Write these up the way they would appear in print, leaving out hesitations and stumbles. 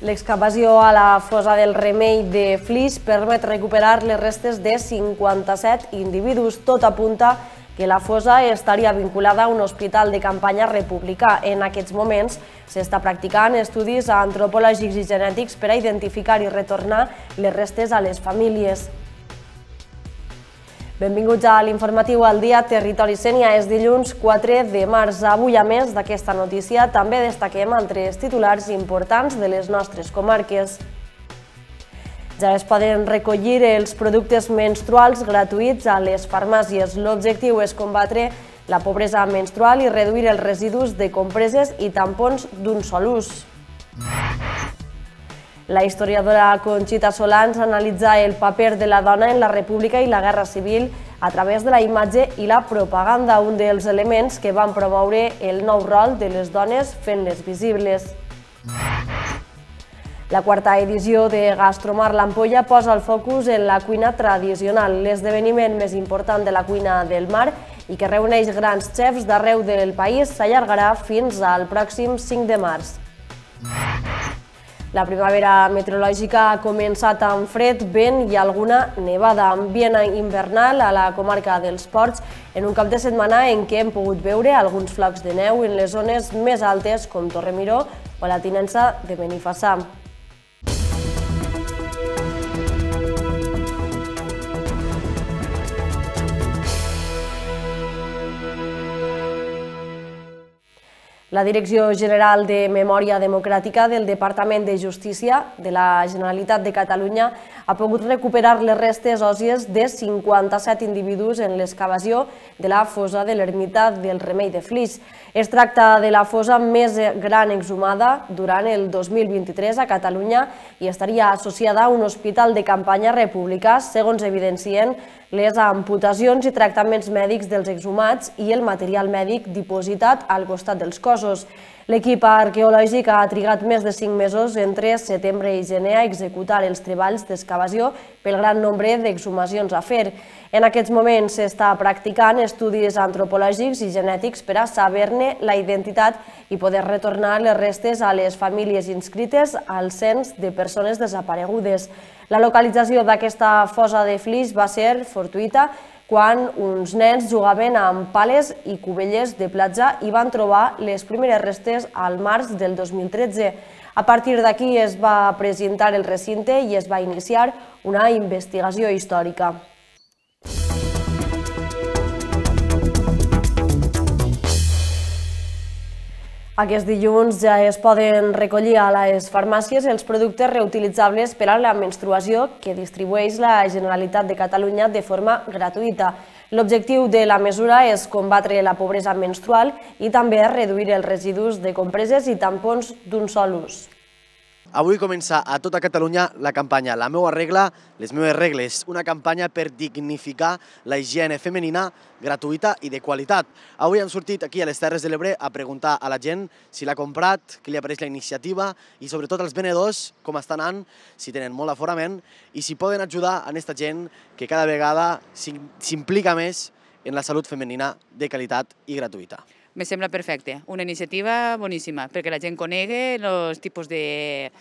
L'excavació a la fossa del Remei de Flix permet recuperar les restes de 57 individus. Tot apunta que la fossa estaria vinculada a un hospital de campanya republicà. En aquests moments s'està practicant estudis antropològics i genètics per a identificar i retornar les restes a les famílies. Benvinguts a l'informatiu al dia Territori Sénia. És dilluns 4 de març. Avui, a més d'aquesta notícia, també destaquem altres titulars importants de les nostres comarques. Ja es poden recollir els productes menstruals gratuïts a les farmàcies. L'objectiu és combatre la pobresa menstrual i reduir els residus de compreses i tampons d'un sol ús. La historiadora Conxita Solans analitza el paper de la dona en la República i la Guerra Civil a través de la imatge i la propaganda, un dels elements que van promoure el nou rol de les dones fent-les visibles. La quarta edició de Gastromar l'Ampolla posa el focus en la cuina tradicional, l'esdeveniment més important de la cuina del mar i que reuneix grans xefs d'arreu del país, s'allargarà fins al pròxim 5 de març. La primavera meteorològica ha començat amb fred, vent i alguna nevada, ambient invernal a la comarca dels Ports, en un cap de setmana en què hem pogut veure alguns flocs de neu en les zones més altes com Torremiró o la tinença de Benifassà. La Direcció General de Memòria Democràtica del Departament de Justícia de la Generalitat de Catalunya ha pogut recuperar les restes òssies de 57 individus en l'excavació de la fossa de l'ermita del Remei de Flix. Es tracta de la fossa més gran exhumada durant el 2023 a Catalunya i estaria associada a un hospital de campanya republicà, segons evidencien les amputacions i tractaments mèdics dels exhumats i el material mèdic dipositat al costat dels cossos. L'equip arqueològic ha trigat més de 5 mesos entre setembre i gener a executar els treballs d'excavació pel gran nombre d'exhumacions a fer. En aquests moments s'està practicant estudis antropològics i genètics per a saber-ne la identitat i poder retornar les restes a les famílies inscrites al cens de persones desaparegudes. La localització d'aquesta fossa de Flix va ser fortuïta quan uns nens jugaven amb pales i cubelles de platja i van trobar les primeres restes al març del 2013. A partir d'aquí es va presentar el recinte i es va iniciar una investigació històrica. Aquest dilluns ja es poden recollir a les farmàcies els productes reutilitzables per a la menstruació que distribueix la Generalitat de Catalunya de forma gratuïta. L'objectiu de la mesura és combatre la pobresa menstrual i també reduir els residus de compreses i tampons d'un sol ús. Avui comença a tota Catalunya la campanya La meua regla, les meves regles, una campanya per dignificar la higiene femenina gratuïta i de qualitat. Avui hem sortit aquí a les Terres de l'Ebre a preguntar a la gent si l'ha comprat, què li apareix la iniciativa i sobretot als venedors com està anant, si tenen molt aforament i si poden ajudar a aquesta gent que cada vegada s'implica més en la salut femenina de qualitat i gratuïta. Me sembla perfecte, una iniciativa boníssima, perquè la gent conegui els tipus de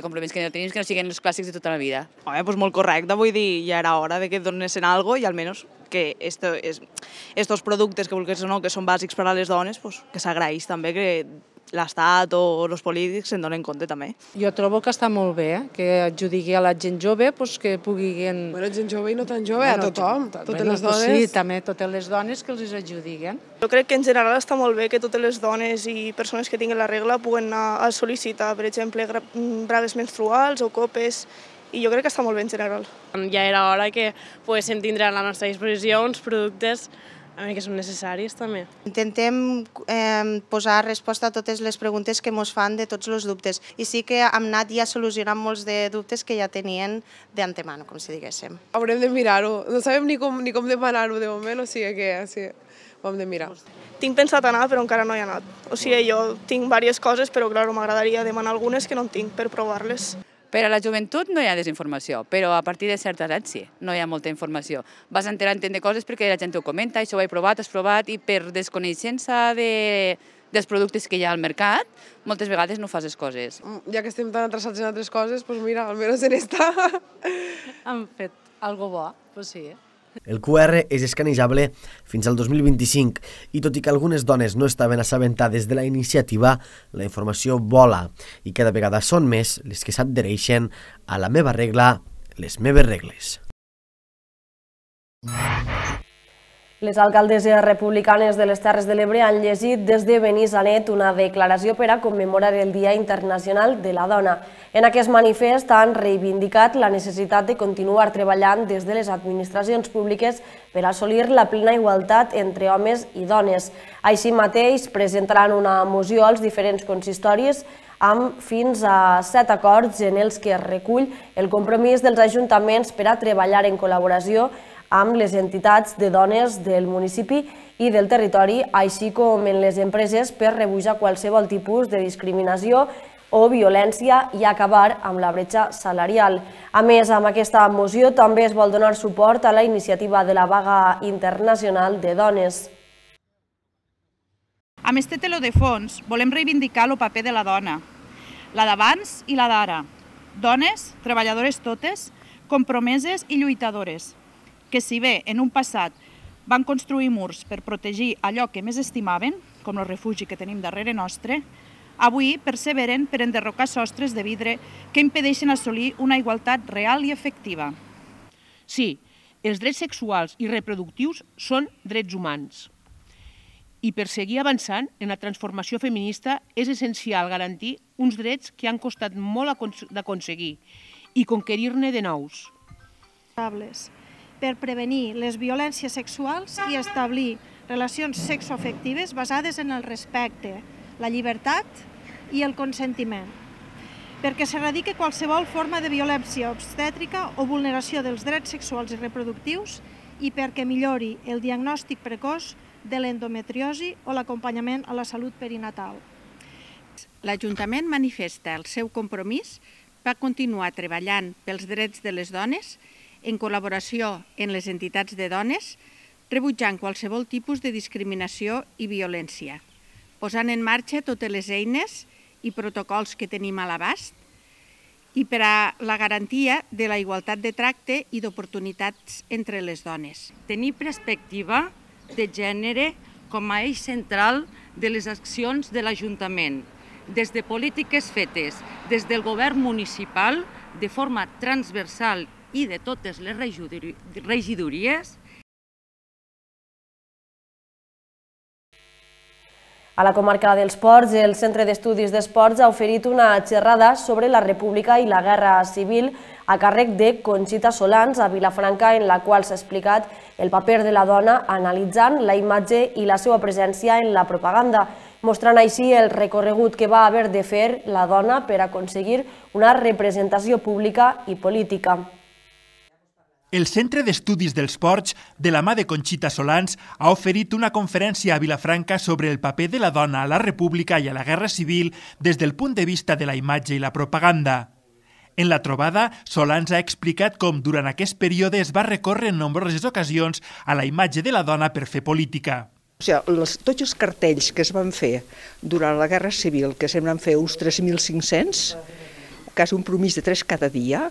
complements que tenim, que no siguin els clàssics de tota la vida. Pues molt correcte, vull dir, ja era hora de que donessin alguna cosa i almenys que estos productes que vulguis o no, que són bàsics per a les dones, que s'agraeix també que l'Estat o els polítics se'n donen compte també. Jo trobo que està molt bé, que adjudigui a la gent jove que puguin... Bueno, gent jove i no tan jove, a tothom, totes les dones. Sí, també totes les dones que els adjudiguen. Jo crec que en general està molt bé que totes les dones i persones que tinguin la regla puguen anar a sol·licitar, per exemple, bragues menstruals o copes, i jo crec que està molt bé en general. Ja era hora que poguéssim tindre a la nostra disposició uns productes que són necessaris també. Intentem posar resposta a totes les preguntes que ens fan de tots els dubtes i sí que hem anat ja solucionant molts de dubtes que ja tenien d'antemano, com si diguéssim. Haurem de mirar-ho, no sabem ni com demanar-ho de moment, o sigui que ho hem de mirar. Tinc pensat anar, però encara no hi he anat. O sigui, jo tinc diverses coses, però clar, m'agradaria demanar algunes que no en tinc per provar-les. Per a la joventut no hi ha desinformació, però a partir de certa edat sí, no hi ha molta informació. Vas enterant de coses perquè la gent ho comenta, això ho he provat, has provat, i per desconeixença de dels productes que hi ha al mercat, moltes vegades no fas les coses. Ja que estem tan atrasats en altres coses, doncs mira, almenys en esta. Han fet algo bo, doncs sí. El QR és escanejable fins al 2025 i tot i que algunes dones no estaven assabentades de la iniciativa, la informació vola i cada vegada són més les que s'adhereixen a la meva regla, les meves regles. Les alcaldesses republicanes de les Terres de l'Ebre han llegit des de Benissanet una declaració per a commemorar el Dia Internacional de la Dona. En aquest manifest han reivindicat la necessitat de continuar treballant des de les administracions públiques per assolir la plena igualtat entre homes i dones. Així mateix, presentaran una moció als diferents consistoris amb fins a 7 acords en els que es recull el compromís dels ajuntaments per a treballar en col·laboració amb les entitats de dones del municipi i del territori, així com en les empreses per rebutjar qualsevol tipus de discriminació o violència i acabar amb la bretxa salarial. A més, amb aquesta moció també es vol donar suport a la iniciativa de la vaga internacional de dones. Amb este teló de fons volem reivindicar el paper de la dona, la d'abans i la d'ara. Dones, treballadores totes, compromeses i lluitadores, que si bé en un passat van construir murs per protegir allò que més estimaven, com el refugi que tenim darrere nostre, avui perseveren per enderrocar sostres de vidre que impedeixen assolir una igualtat real i efectiva. Sí, els drets sexuals i reproductius són drets humans. I per seguir avançant en la transformació feminista és essencial garantir uns drets que han costat molt d'aconseguir i conquerir-ne de nous. Per prevenir les violències sexuals i establir relacions sexoafectives basades en el respecte, la llibertat i el consentiment. Perquè s'erradique qualsevol forma de violència obstètrica o vulneració dels drets sexuals i reproductius i perquè millori el diagnòstic precoç de l'endometriosi o l'acompanyament a la salut perinatal. L'Ajuntament manifesta el seu compromís per continuar treballant pels drets de les dones en col·laboració amb les entitats de dones, rebutjant qualsevol tipus de discriminació i violència, posant en marxa totes les eines i protocols que tenim a l'abast i per a la garantia de la igualtat de tracte i d'oportunitats entre les dones. Tenir perspectiva de gènere com a eix central de les accions de l'Ajuntament, des de polítiques fetes des del govern municipal de forma transversal i de totes les regidories. A la comarca dels Ports, el Centre d'Estudis d'Esports ha oferit una xerrada sobre la República i la Guerra Civil a càrrec de Conxita Solans a Vilafranca, en la qual s'ha explicat el paper de la dona analitzant la imatge i la seva presència en la propaganda, mostrant així el recorregut que va haver de fer la dona per aconseguir una representació pública i política. El Centre d'Estudis dels Ports, de la mà de Conxita Solans, ha oferit una conferència a Vilafranca sobre el paper de la dona a la República i a la Guerra Civil des del punt de vista de la imatge i la propaganda. En la trobada, Solans ha explicat com durant aquest període es va recórrer en nombroses ocasions a la imatge de la dona per fer política. Tots els cartells que es van fer durant la Guerra Civil, que se'n van fer uns 3.500, quasi un promís de 3 cada dia,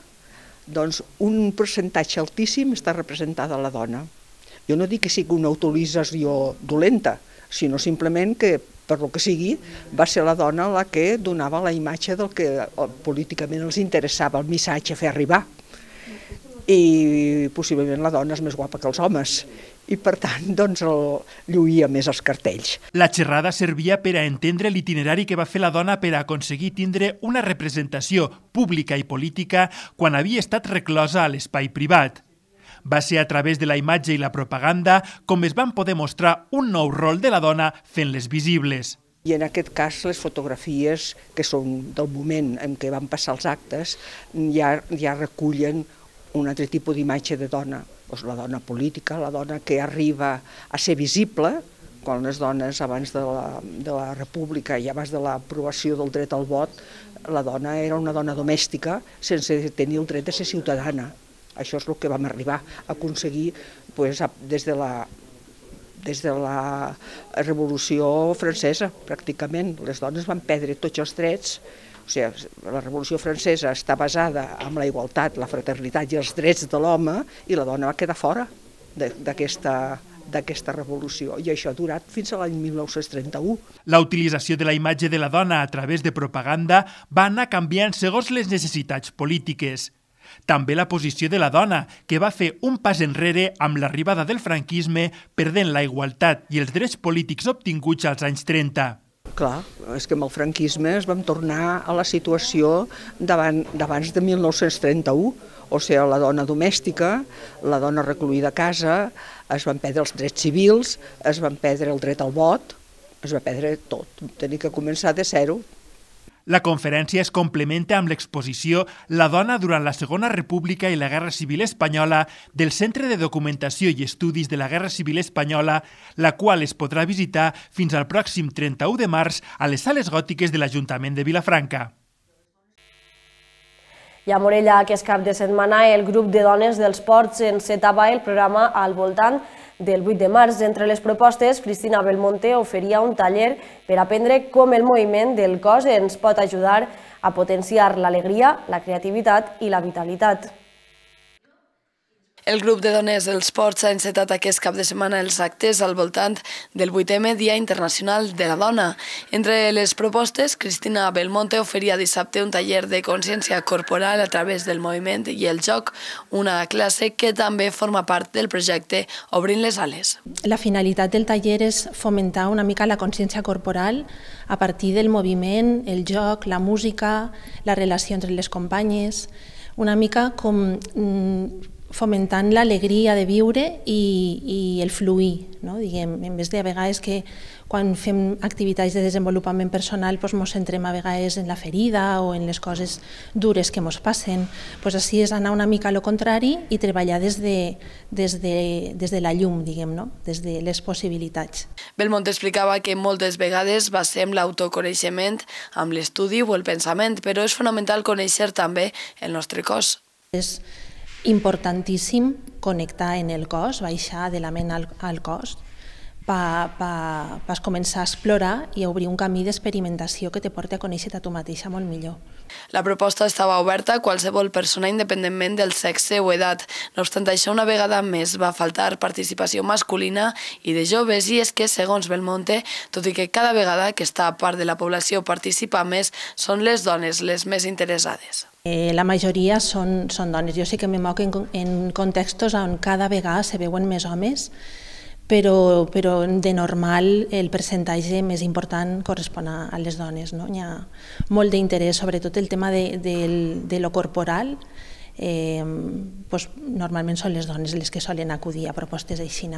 doncs un percentatge altíssim està representada la dona. Jo no dic que sigui una utilització dolenta, sinó simplement que, per lo que sigui, va ser la dona la que donava la imatge del que políticament els interessava el missatge fer arribar. I possiblement la dona és més guapa que els homes i per tant doncs lluïa més els cartells. La xerrada servia per a entendre l'itinerari que va fer la dona per a aconseguir tindre una representació pública i política quan havia estat reclosa a l'espai privat. Va ser a través de la imatge i la propaganda com es van poder mostrar un nou rol de la dona fent-les visibles. I en aquest cas les fotografies, que són del moment en què van passar els actes, ja recullen un altre tipus d'imatge de dona. La dona política, la dona que arriba a ser visible, quan les dones abans de la República i abans de l'aprovació del dret al vot, la dona era una dona domèstica sense tenir el dret de ser ciutadana. Això és el que vam arribar a aconseguir des des de la Revolució Francesa, pràcticament. Les dones van perdre tots els drets. O sigui, la Revolució Francesa està basada en la igualtat, la fraternitat i els drets de l'home, i la dona va quedar fora d'aquesta revolució, i això ha durat fins a l'any 1931. La utilització de la imatge de la dona a través de propaganda va anar canviant segons les necessitats polítiques. També la posició de la dona, que va fer un pas enrere amb l'arribada del franquisme, perdent la igualtat i els drets polítics obtinguts als anys 30. Clar, és que amb el franquisme es vam tornar a la situació d'abans de 1931, o sigui, la dona domèstica, la dona recluïda a casa, es van perdre els drets civils, es van perdre el dret al vot, es va perdre tot, tenir que començar de zero. La conferència es complementa amb l'exposició La dona durant la Segona República i la Guerra Civil Espanyola del Centre de Documentació i Estudis de la Guerra Civil Espanyola, la qual es podrà visitar fins al pròxim 31 de març a les sales gòtiques de l'Ajuntament de Vilafranca. I a Morella, aquest cap de setmana, el grup de dones dels ports encetava el programa al voltant del 8 de març. Entre les propostes, Cristina Belmonte oferia un taller per aprendre com el moviment del cos ens pot ajudar a potenciar l'alegria, la creativitat i la vitalitat. El grup de dones dels ports ha encetat aquest cap de setmana els actes al voltant del 8è Dia Internacional de la Dona. Entre les propostes, Cristina Belmonte oferia dissabte un taller de consciència corporal a través del moviment i el joc, una classe que també forma part del projecte Obrint les ales. La finalitat del taller és fomentar una mica la consciència corporal a partir del moviment, el joc, la música, la relació entre les companyes, una mica com fomentant l'alegria de viure i el fluir, no? Diguem, en vez de a vegades que quan fem activitats de desenvolupament personal ens centrem a vegades en la ferida o en les coses dures que ens passen, així és anar una mica a lo contrari i treballar des de la llum, diguem, no? Des de les possibilitats. Belmonte explicava que moltes vegades basem l'autoconeixement amb l'estudi o el pensament, però és fonamental conèixer també el nostre cos. És importantíssim connectar en el cos, baixar de la ment al cos, per començar a explorar i a obrir un camí d'experimentació que te porti a conèixer-te a tu mateixa molt millor. La proposta estava oberta a qualsevol persona independentment del sexe o edat. No obstant això, una vegada més va faltar participació masculina i de joves, i és que, segons Belmonte, tot i que cada vegada aquesta part de la població participa més, són les dones les més interessades. La majoria són dones. Jo sé que me moc en contextos on cada vegada se veuen més homes, però de normal el percentatge més important correspon a les dones. Hi ha molt d'interès, sobretot el tema de lo corporal. Normalment són les dones les que solen acudir a propostes així.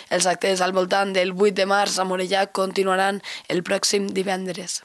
Els actes al voltant del 8 de març a Morella continuaran el pròxim divendres.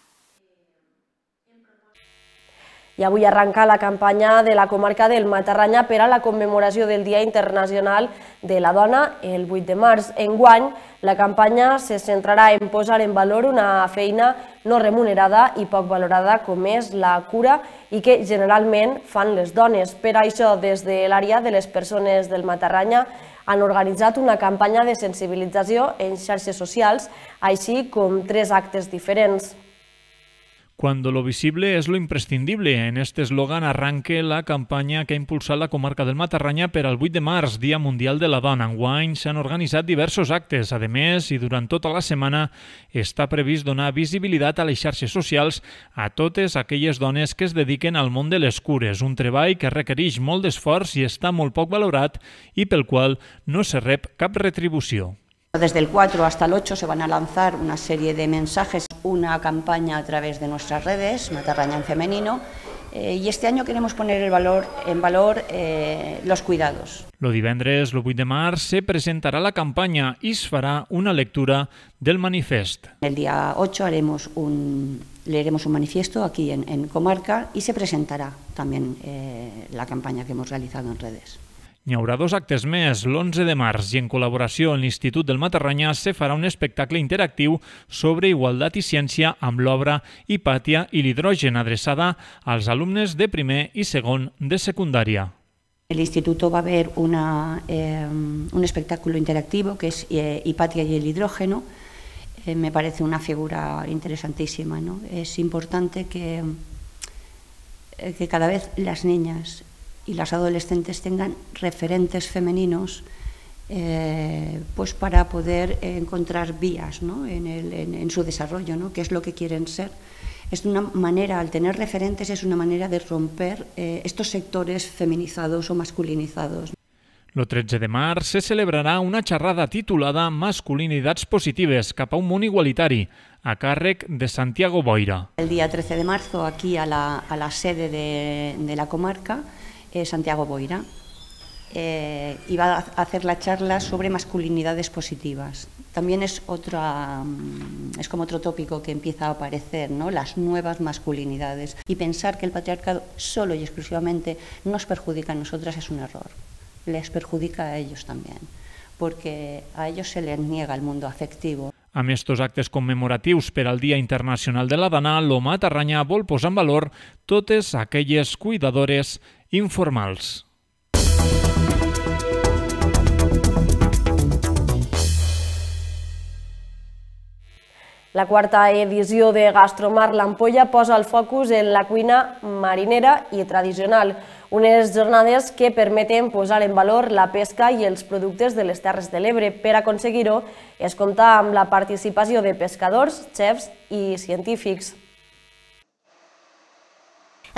I avui arrenca la campanya de la comarca del Matarranya per a la commemoració del Dia Internacional de la Dona el 8 de març. Enguany, la campanya se centrarà en posar en valor una feina no remunerada i poc valorada com és la cura i que generalment fan les dones. Per això, des de l'àrea de les persones del Matarranya han organitzat una campanya de sensibilització en xarxes socials, així com 3 actes diferents. Cuando lo visible es lo imprescindible. En este eslogan arranque la campanya que ha impulsat la comarca del Matarranya per al 8 de març, Dia Mundial de la Dona. Enguany s'han organitzat diversos actes. A més, i durant tota la setmana, està previst donar visibilitat a les xarxes socials a totes aquelles dones que es dediquen al món de les cures, un treball que requereix molt d'esforç i està molt poc valorat i pel qual no se rep cap retribució. Desde el 4 hasta el 8 se van a lanzar una serie de mensajes, una campaña a través de nuestras redes, Matarranya en femenino, y este año queremos poner en valor los cuidados. Lo divendres, el 8 de març, se presentarà la campanya i es farà una lectura del manifest. El día 8 leeremos un manifiesto aquí en Comarca y se presentará también la campaña que hemos realizado en redes. N'hi haurà 2 actes més. L'11 de març i en col·laboració amb l'Institut del Matarranya se farà un espectacle interactiu sobre igualtat i ciència amb l'obra Hipàtia i l'hidrogen adreçada als alumnes de primer i segon de secundària. el instituto va a haber un espectáculo interactivo que es Hipatia y el hidrógeno. Me parece una figura interesantísima, ¿no? Es importante que cada vez las niñas y las adolescentes tengan referentes femeninos pues para poder encontrar vías, ¿no? en su desarrollo, ¿no? Qué es lo que quieren ser. Es una manera, al tener referentes, es una manera de romper estos sectores feminizados o masculinizados. El 13 de març se celebrarà una xerrada titulada Masculinitats positives cap a un món igualitari, a càrrec de Santiago Boira. El día 13 de marzo, aquí a la sede de la comarca, Santiago Boira, iba a hacer la charla sobre masculinidades positivas. También es como otro tópico que empieza a aparecer, ¿no? Las nuevas masculinidades. Y pensar que el patriarcado solo y exclusivamente nos perjudica a nosotras es un error. Les perjudica a ellos también, porque a ellos se les niega el mundo afectivo. Amb estos actes commemoratius per al Dia Internacional de la Dona, lo Matarranya vol posar en valor totes aquelles cuidadores informals. La quarta edició de Gastromar l'Ampolla posa el focus en la cuina marinera i tradicional, unes jornades que permeten posar en valor la pesca i els productes de les Terres de l'Ebre. Per aconseguir-ho, es compta amb la participació de pescadors, xefs i científics.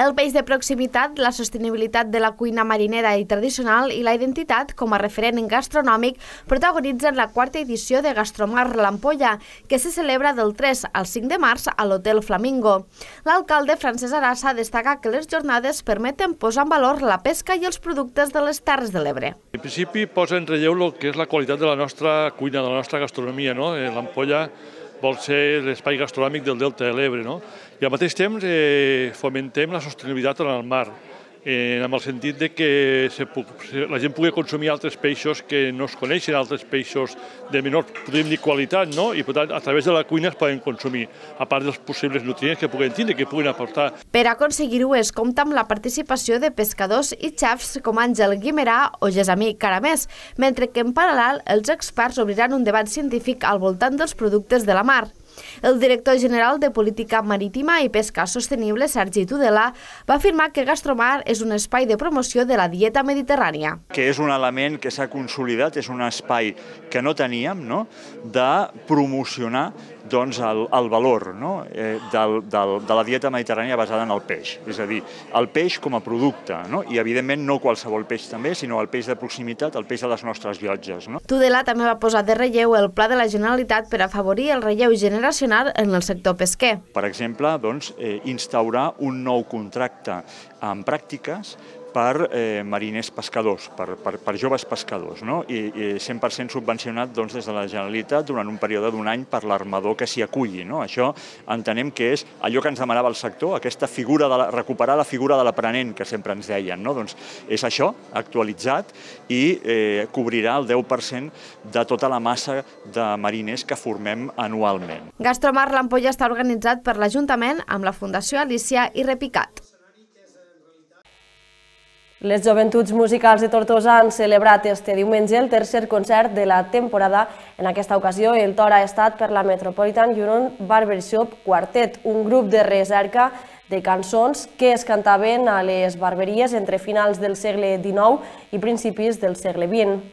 El peix de proximitat, la sostenibilitat de la cuina marinera i tradicional i la identitat com a referent gastronòmic protagonitzen la quarta edició de Gastromar l'Ampolla, que se celebra del 3 al 5 de març a l'Hotel Flamingo. L'alcalde Francesc Arassa destaca que les jornades permeten posar en valor la pesca i els productes de les Terres de l'Ebre. En principi posa en relleu el que és la qualitat de la nostra cuina, de la nostra gastronomia, no? L'Ampolla vol ser l'espai gastronòmic del Delta de l'Ebre, no? I al mateix temps fomentem la sostenibilitat en el mar, amb el sentit de que la gent pugui consumir altres peixos que no es coneixen, altres peixos de menor, podríem dir, qualitat, no? I per tant, a través de la cuina es poden consumir, a part dels possibles nutrients que puguen tindre, que puguen aportar. Per aconseguir-ho es compta amb la participació de pescadors i xefs com Àngel Guimerà o Gesamí Caramés, mentre que en paral·lel els experts obriran un debat científic al voltant dels productes de la mar. El director general de Política Marítima i Pesca Sostenible, Sergi Tudela, va afirmar que Gastromar és un espai de promoció de la dieta mediterrània. Que és un element que s'ha consolidat, és un espai que no teníem, de promocionar el valor de la dieta mediterrània basada en el peix. És a dir, el peix com a producte, i evidentment no qualsevol peix també, sinó el peix de proximitat, el peix de les nostres llotges. Tudela també va posar de relleu el pla de la Generalitat per afavorir el relleu generacional en el sector pesquer. Per exemple, instaurar un nou contracte amb pràctiques per mariners pescadors, per joves pescadors, i 100% subvencionat des de la Generalitat durant un període d'un any per l'armador que s'hi aculli. Això entenem que és allò que ens demanava el sector, aquesta figura, recuperar la figura de l'aprenent que sempre ens deien. Doncs és això, actualitzat, i cobrirà el 10% de tota la massa de mariners que formem anualment. Gastromar l'Ampolla està organitzat per l'Ajuntament amb la Fundació Alícia i Repicat. Les Joventuts Musicals de Tortosa han celebrat este diumenge el tercer concert de la temporada. En aquesta ocasió, el to ha estat per la Metropolitan Union Barbershop Quartet, un grup de recerca de cançons que es cantaven a les barberies entre finals del segle XIX i principis del segle XX.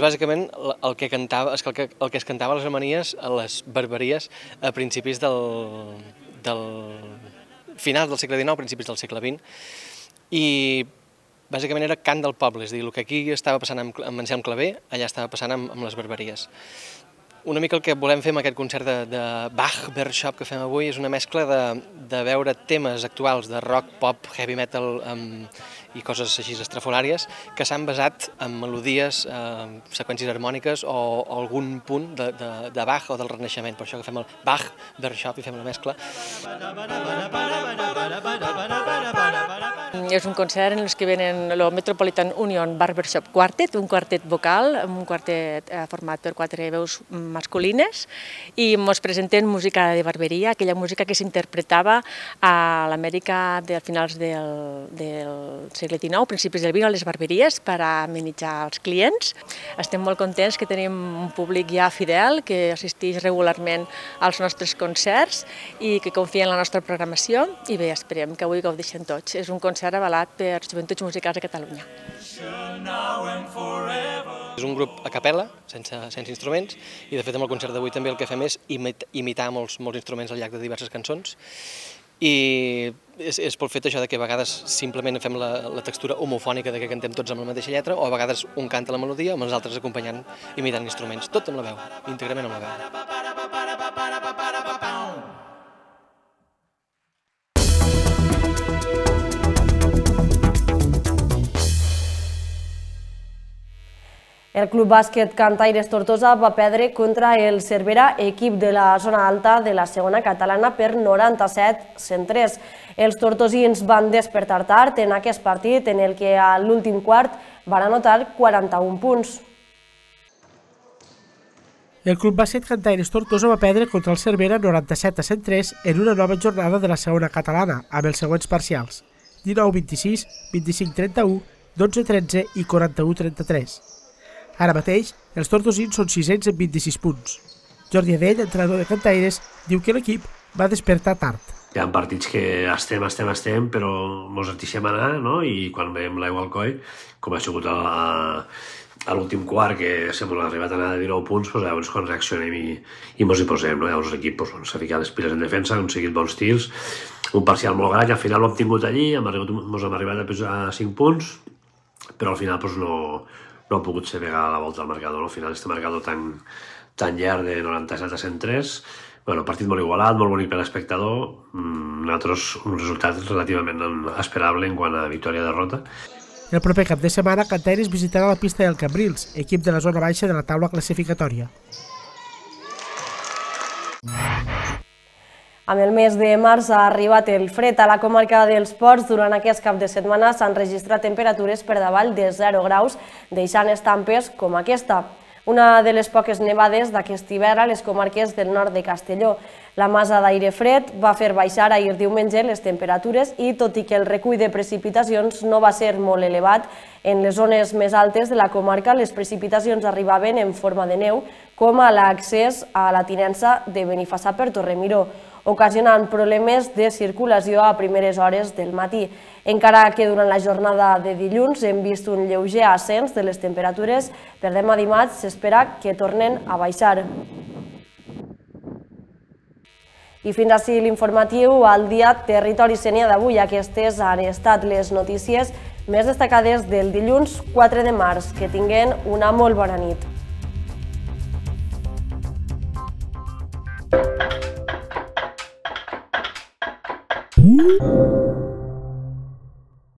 Bàsicament, el que es cantava a les armonies, a les barberies, a principis del final del segle XIX, principis del segle XX, i bàsicament era cant del poble, és a dir, el que aquí estava passant amb Anselm Clavé, allà estava passant amb les barberies. Una mica el que volem fer amb aquest concert de Bach Barbershop que fem avui és una mescla de veure temes actuals de rock, pop, heavy metal i coses així estrafolàries que s'han basat en melodies, seqüències harmòniques o algun punt de Bach o del Renaixement. Per això que fem el Bach Barbershop i fem la mescla. És un concert en el que venen el Metropolitan Union Barbershop Quartet, un quartet vocal, un quartet format per 4 veus masculines, i ens presenten música de barberia, aquella música que s'interpretava a l'Amèrica de finals del segle XIX, principis del XX, a les barberies per amenitzar els clients. Estem molt contents que tenim un públic ja fidel, que assisteix regularment als nostres concerts i que confia en la nostra programació, i bé, esperem que avui gaudeixen tots. És un concert avalat per Joventuts Musicals de Catalunya. És un grup a capella, sense instruments, i de fet amb el concert d'avui també el que fem és imitar molts instruments al llarg de diverses cançons, i és pel fet això que a vegades simplement fem la textura homofònica que cantem tots amb la mateixa lletra, o a vegades un canta la melodia amb els altres acompanyant, imitant instruments, tot amb la veu, íntegrament amb la veu. El Club Bàsquet Cantaires Tortosa va perdre contra el Cervera, equip de la zona alta de la segona catalana, per 97-103. Els tortosins van despertar tard en aquest partit, en el que a l'últim quart van anotar 41 punts. El Club Bàsquet Cantaires Tortosa va perdre contra el Cervera 97-103 en una nova jornada de la segona catalana, amb els següents parcials: 19-26, 25-31, 12-13 i 41-33. Ara mateix, els tortosins són sisens amb 26 punts. Jordi Adell, entrenador de Cantaires, diu que l'equip va despertar tard. Hi ha partits que estem, però ens deixem anar, i quan veiem l'aigua al coll, com ha sigut a l'últim quart, que s'ha arribat a anar de 19 punts, llavors quan reaccionem i ens hi posem. Llavors l'equip s'ha ficat les piles en defensa, han seguit bons tirs, un parcial molt gran, i al final l'hem tingut allí, ens hem arribat a 5 punts, però al final no ha pogut ser pegar la volta al marcador. Al final, este marcador tan llarg de 97-103, partit molt igualat, molt bonic per l'espectador, nosaltres un resultat relativament esperable en quant a victòria-derrota. El proper cap de setmana, Cantaires visitarà la pista del Cambrils, equip de la zona baixa de la taula classificatòria. Amb el mes de març ha arribat el fred a la comarca dels Ports. Durant aquest cap de setmana s'han registrat temperatures per davall de 0 graus, deixant estampes com aquesta. Una de les poques nevades d'aquest hivern a les comarques del nord de Castelló. La massa d'aire fred va fer baixar ahir diumenge les temperatures i, tot i que el recull de precipitacions no va ser molt elevat, en les zones més altes de la comarca les precipitacions arribaven en forma de neu, com a l'accés a la tinença de Benifassà per Torremiró, ocasionant problemes de circulació a primeres hores del matí. Encara que durant la jornada de dilluns hem vist un lleuger ascens de les temperatures, per demà dimarts s'espera que tornen a baixar. I fins així l'informatiu al dia Territori Sénia d'avui. Aquestes han estat les notícies més destacades del dilluns 4 de març. Que tinguen una molt bona nit. Woo!